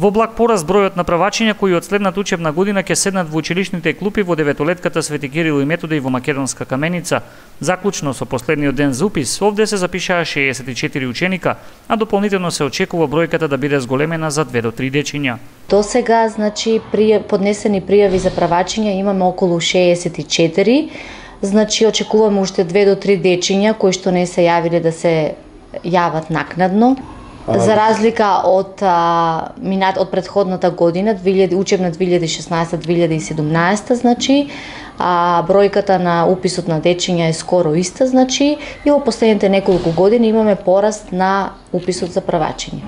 Во благ пораст бројот на правачиња кои од следната учебна година ќе седнат во училишните клупи во деветолетката Свети Кирил и Методи во Македонска Каменица. Заклучно со последниот ден за упис, овде се запишаа 64 ученика, а дополнително се очекува бројката да биде зголемена за 2 до 3 дечиња. До сега, поднесени пријави за правачиња имаме околу 64, очекуваме уште 2 до 3 дечиња кои што не се јавиле да се јават накнадно. За разлика од претходната година, учебна 2016-2017, бројката на уписот на дечиња е скоро иста, и во последните неколку години имаме пораст на уписот за правачиња.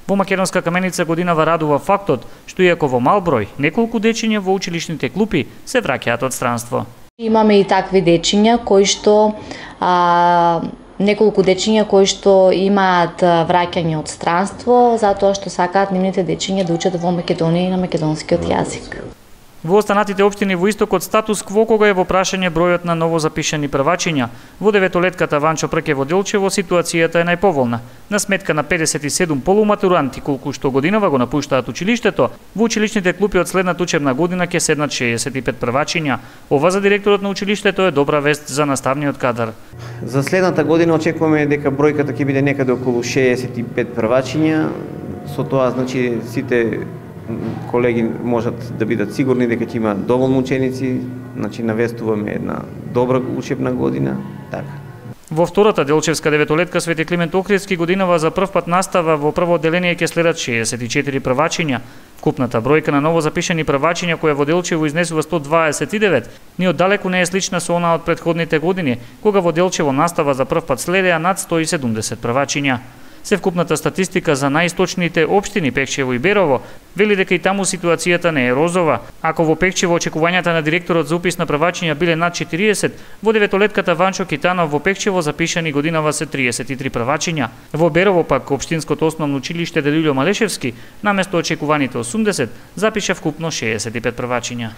Во Македонска Каменица годинава радува фактот што иако во мал број, неколку дечиња во училишните клупи се враќаат од странство. Имаме и такви дечиња кои што неколку дечиња кои што имаат враќање од странство, затоа што сакаат нивните дечиња да учат во Македонија и на македонскиот јазик. Во останатите општини во истокот статус кво кога е во прашање бројот на новозапишани правачиња. Во деветолетката Ванчо Прке во Делчево ситуацијата е најповолна. На сметка на 57 полуматуранти колку што годинава го напуштаат училиштето, во училишните клупи од следната учебна година ќе седнат 65 правачиња. Ова за директорот на училиштето е добра вест за наставниот кадар. За следната година очекуваме дека бројката ќе биде некаде околу 65 правачиња. Со тоа сите колеги можат да бидат сигурни дека ќе има доволно ученици, навестуваме една добра учебна година, така. Во втората Делчевска деветолетка Свети Климент Охридски годинава за прв пат настава во прво одделение ќе следат 64 правачиња. Вкупната бројка на ново запишани правачиња која во Делчево изнесува 129, ни оддалеку не е слична со онаа од претходните години, кога во Делчево настава за прв пат следеа над 170 правачиња. Севкупната статистика за најисточните општини Пекчево и Берово вели дека и таму ситуацијата не е розова. Ако во Пекчево очекувањата на директорот за упис на правачиња биле над 40, во деветолетката Ванчо Китанов во Пекчево запишани годинава се 33 правачиња. Во Берово пак општинското основно училиште Делилјо Малешевски наместо очекуваните 80 запиша вкупно 65 правачиња.